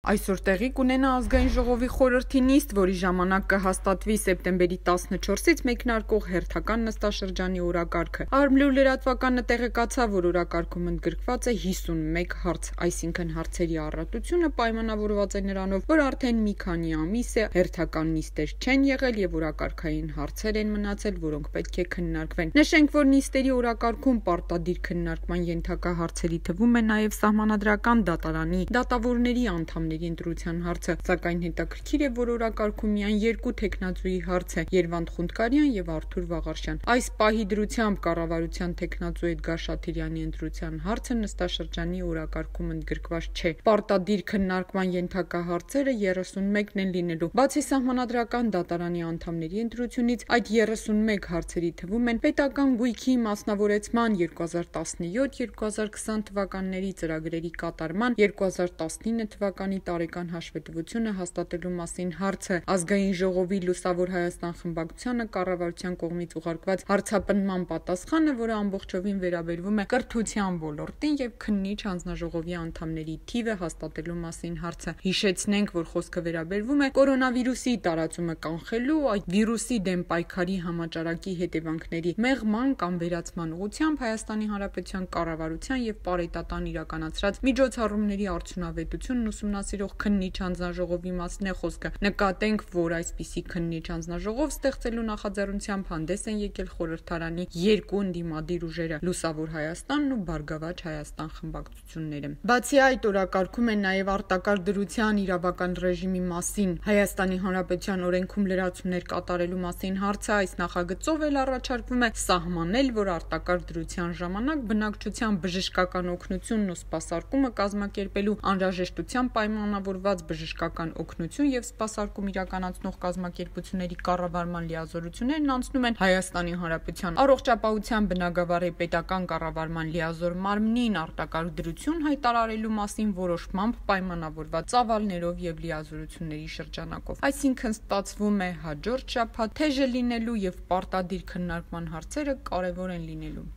Այսօր տեղի կունենա ազգային ժողովի խորհրդի նիստ, որի ժամանակ կհաստատվի սեպտեմբերի 14-ից մեկնարկող հերթական նստաշրջանի օրակարգը։ Արմլու լրատվականը տեղեկացավ, որ օրակարգում ընդգրկված է 51 հարց, այսինքն հարցերի առատությունը պայմանավորված է նրանով, որ արդեն մի քանի ամիս է հերթական նիստեր չեն եղել եւ օրակարգային հարցեր են մնացել, որոնք պետք է քննարկվեն։ Նշենք, որ նիստերի օրակարգում պարտադիր քննարկման ենթակա հարցերի թվում է նաեւ սահմանադրական դատարանի դատավորների անդամների ընտրության հարցը, սակայն հետաքրքիր է, որ օրակարգում միայն երկու թեկնածուի հարց է՝ Երվանդ Խունդկարյան եւ Արթուր Վաղարշյան։ Այս պահի դրությամբ կառավարության թեկնածու Էդգար Շաթիրյանի ընտրության հարցը նստաշրջանի օրակարգում ընդգրկված չէ։ Պարտադիր քննարկման ենթակա հարցերը 31-ն են լինելու։ Բացի սահմանադրական դատարանի անդամների ընտրությունից, այդ 31 հարցերի թվում են պետական գույքի մասնավորեցման 2017-2020 թվականների ծրագրերի կատարման 2019 թվականի տարեկան հաշվետվությունը հաստատելու մասին հարցը, ազգային ժողովի Լուսավոր Հայաստան խմբակցությանը կառավարության կողմից ուղարկված հարցապնդման պատասխանը, որը ամբողջովին վերաբերվում է կրթության ոլորտին եւ քննիչ հանձնաժողովի անդամների թիվը հաստատելու մասին հարցը։ Հիշեցնենք, որ խոսքը վերաբերվում է կորոնավիրուսի տարածումը կանխելու, այդ վիրուսի դեմ պայքարի համաճարակի հետևանքների մեղման կամ վերացման ուղղությամբ Հայաստանի Հանրապետության կառավարության եւ պարետատան իրականացրած միջոցառումների արդյունավետությունն ուսումնասիրող քննիչ հանձնաժողովի մասն է խոսքը։ Նկատենք, որ այսպիսի քննիչ հանձնաժողով ստեղծելու նախաձեռնությամբ հանդես են եկել խորհրդարանի երկու ընդդիմադիր ուժերը՝ Լուսավոր Հայաստանն ու Բարգավաճ Հայաստան խմբակցությունները։ Բացի այդ, օրակարգում է նաև արտակարգ դրության իրավական ռեժիմի մասին Հայաստանի Հանրապետության օրենքում լրացումներ կատարելու մասին հարցը։ Այս նախագծով էլ առաջարկվում է սահմանել, որ արտակարգ դրության ժամանակ բնակչության բժշկական օգնությունն ու սպասարկումը կազմակերպելու անհրաժեշտությամբ պայմանավորված բժշկական օգնություն եւ սպասարկում իրականացնող կազմակերպությունների կառավարման լիազորություններն անցնում են Հայաստանի Հանրապետության առողջապահության բնագավառի պետական կառավարման լիազոր մարմնին արտակարգ դրություն հայտարարելու մասին որոշմամբ պայմանավորված ծավալներով եւ լիազորությունների շրջանակով։ Այսինքն ստացվում է հաջորդ շաբաթ թեժը լինելու եւ պարտադիր քննարկման հարցերը կարեւոր են լինելու։